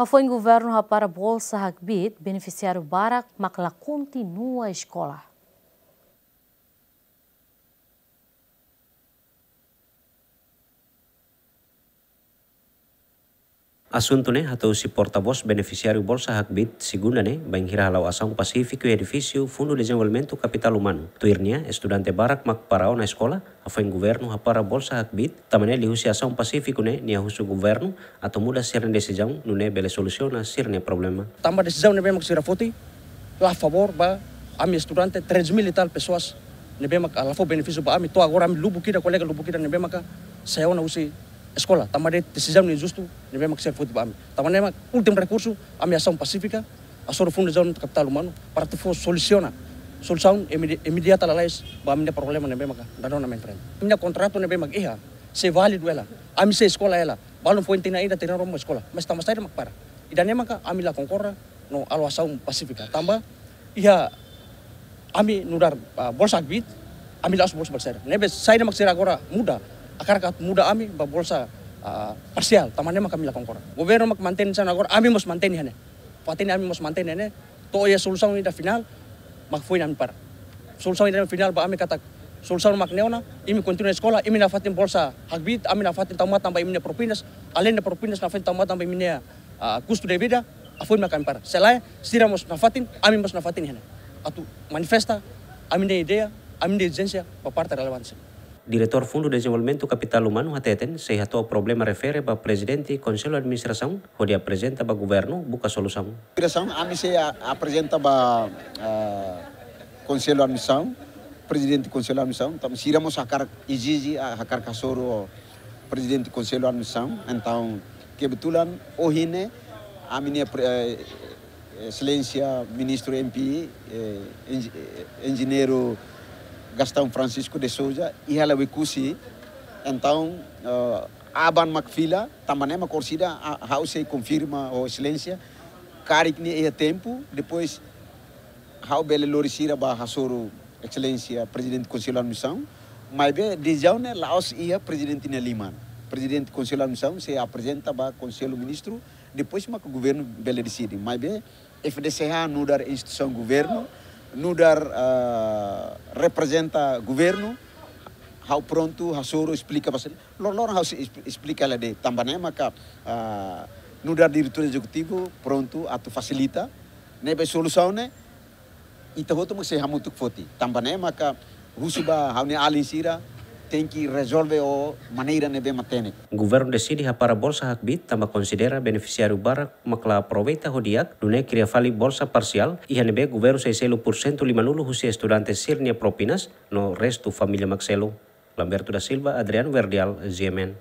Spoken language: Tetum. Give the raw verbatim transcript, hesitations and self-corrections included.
Hafoin governu hapara bolsa hakbiit, benefisiáriu barak mak la kontinua eskola. Asuntu ne'e hato'o husi porta-vós benefisiáriu bolsa hakbiit, segunda ne'e, bainhira hala'o asaun pasífiku iha edifísiu Fundu Dezenvolvimentu Kapitál Umanu. Tuir nia, estudante barak mak para ona eskola, hafoin governu hapara bolsa hakbiit, tanba ne'e liuhusi asaun pasífiku ne'e, nia husu governu atu muda sira-nia desizaun, nune'e bele solusiona sira-nia problema. Tanba desizaun ne'ebé mak sira foti, la favór ba ami estudante, três mil e tal pessoas, ne'ebé mak la fó benefísiu ba ami, to'o agora ami lubuk ida, kolega lubuk ida ne'ebé maka sai ona husi eskola, tanba de'it desizaun injustu ne'ebé mak sira foti ba ami. Tanba ne'e mak últimu rekursu, ami asaun pasífika, hasoru Fundu Dezenvolvimentu Kapitál Umanu, para atu fó solusiona, solusaun imedi-, imediata lalais ba ami-nia problema ne'ebé maka dadaun ami enfrenta. Ami-nia kontratu ne'ebé mak iha, sei válidu hela, ami sei eskola hela, balun foin tinan ida, tinan rua mak eskola, mas tanba saida mak para. Ida-ne'e maka ami la konkorda no halo asaun pasífika, tanba iha ami nu'udar, ah, bolsa hakbiit, ami la'ós bolsa, bolsa saida. Ne'ebé saida mak sira agora muda, hakarak atu muda ami ba bolsa, ah, parsiál, tanba ne'e mak ami la konkorda. Governu mak mantein hanesan agora, ami mós mantein iha ne'e. Fatin ami mós mantein iha ne'e, to'o iha solusaun ida finál, mak foin ami para. Solusaun ida finál ba ami katak, solusaun mak ne'e ona, imi kontinua eskola, imi nafatin bolsa hakbiit, ami nafatin tau matan ba imi-nia propinas, além de propinas nafatin tau matan ba imi-nia, ah, kustu de vida, hafoin mak ami para. Se lae, sira mós nafatin, ami mós nafatin iha ne'e. Atu manifesta ami-nia ideia, ami-nia ezijénsia ba parte relevante sira. Diretór Fundu Dezenvolvimentu Kapitál Umanu hateten, sei hato'o problema refere ba Prezidente Konsellu Administrasaun, hodi aprezenta ba governu buka solusaun. Diresaun, ami sei a-, aprezenta ba, ah, Konsellu Administrasaun, Prezidente Konsellu Administrasaun, tanba sira mós hakarak ezije, ah, hakarak hasoru Prezidente Konsellu Administrasaun. Entaun, kebetulan, ohin ne'e, ami-nia pre-, eh, Exelénsia Ministru M P, eh, enji-, eh, Enjeñeiru Gastão Francisco de Sousa, iha hela Oekusi. Entaun, eh, aban mak fila, tanba ne'e mak orsida, ah, ha'u sei konfirma ho Exelénsia, karik nia iha tempu, depois ha'u bele lori sira ba hasoru Exelénsia Prezidente Konsellu Administrasaun, maibé desizaun ne'e la'ós iha Prezidente nia liman. Prezidente Konsellu Administrasaun sei aprezenta ba Konsellu Ministru, depois maka governu bele deside. Maibé F D C H nu'udar instituisaun governu, nu'udar, ah, reprezenta governu, ha'u prontu hasoru esplika ba sira. Loron-loron ha'u sei es-, esplika hela de'it, tanba ne'e maka, ah, nu'udar diretór ezekutivu prontu atu fasilita. Ne'ebé solusaun ne'e, ita hotu mak sei hamutuk foti. Tanba ne'e maka husu ba ha'u-nia alin sira, tenke rezolve ho maneira ne'ebé matenek. Governu deside hapara bolsa hakbiit tanba konsidera benefisiáriu barak mak la aproveita ho di'ak, nune'e kria fali bolsa parsiál, iha ne'ebé governu sei selu pursentu limanulu husi estudante sira-nia propinas, no restu família mak selu. Lamberto da Silva, Adriano Verdial, G M N.